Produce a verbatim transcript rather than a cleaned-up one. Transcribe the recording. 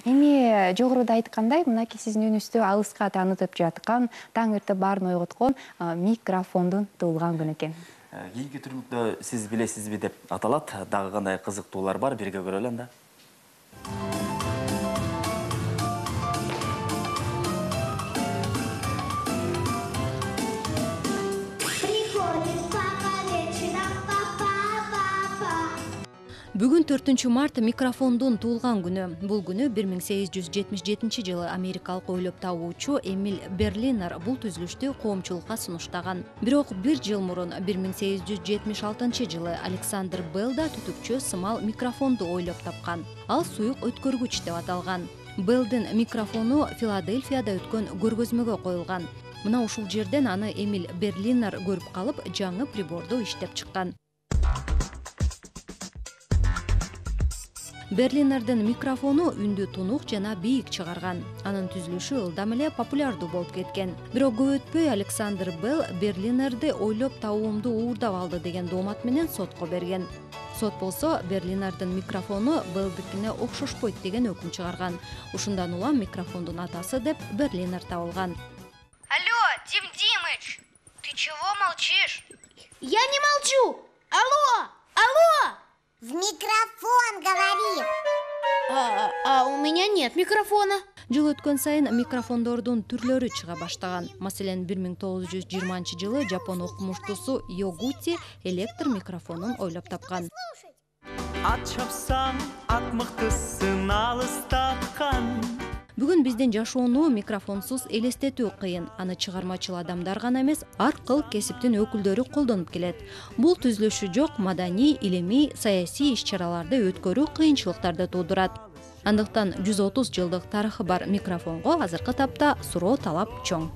Эми жогоруда айткандай, мынакей сиздин үнүңүздө алыска таанытып жаткан, таң эрте баарын ойготкон микрофондун туулган күнү экен. Кийинки түрлүктө сиз билесизби деп аталат. Дагы кандай кызыктуулар бар, бирге көрөлү анда. Бүгүн төртүнчү март микрофондун туулган күнү. Бул күнү бир миң сегиз жүз жетимиш жетинчи жылы америкалык ойлоп табуучу Эмиль Берлинер бул түзүлүштү коомчулукка сунуштаган. Бирок бир жыл мурун бир миң сегиз жүз жетимиш алтынчы жылы Александр Белл да түтүкчө сымал микрофонду ойлоп тапкан. Ал суюк өткөргүч деп аталган. Беллдин микрофону Филадельфияда өткөн көргөзмөгө коюлган. Мына ушул жерден аны Эмиль Берлинер көрүп калып, жаңы приборду иштеп чыккан. Берлинердин микрофону үндү тунук жана бийик чыгарган. Анын түзүлүшү ылдам эле популярдуу болуп кеткен. Бирок көп өтпөй Александр Белл Берлинерди ойлоп табуумду уурдап алды деген доомат менен сотко берген. Сот болсо Берлинердин микрофону Беллдикине окшошпойт деген өкүм чыгарган. Ушундан улам микрофондун атасы деп Берлинер табылган. Алло, Дим Димыч, ты чего молчишь? Я не молчу! Алло! Алло! В микрофон говори! А, а у меня нет микрофона. Жыл өткөн сайын микрофондордун түрлөрү чыга баштаган. Маселен, бир миң тогуз жүз жыйырманчы жылы жапон окумуштуусу Йогути электр микрофонун ойлоп тапкан. Ат чапсаң, ат мыктысын алыстаткан. Бүгүн биздин жашоону микрофонсуз элестетүү кыйын. Аны чыгармачыл адамдар гана эмес, ар кыл кесиптин өкүлдөрү колдонуп келет. Бул түзүлүшү жок маданий, илимий, саясий иш-чараларды өткөрүү кыйынчылыктарды туудурат. Андыктан жүз отуз жылдык тарыхы бар микрофонго азыркы тапта суроо талап чоң.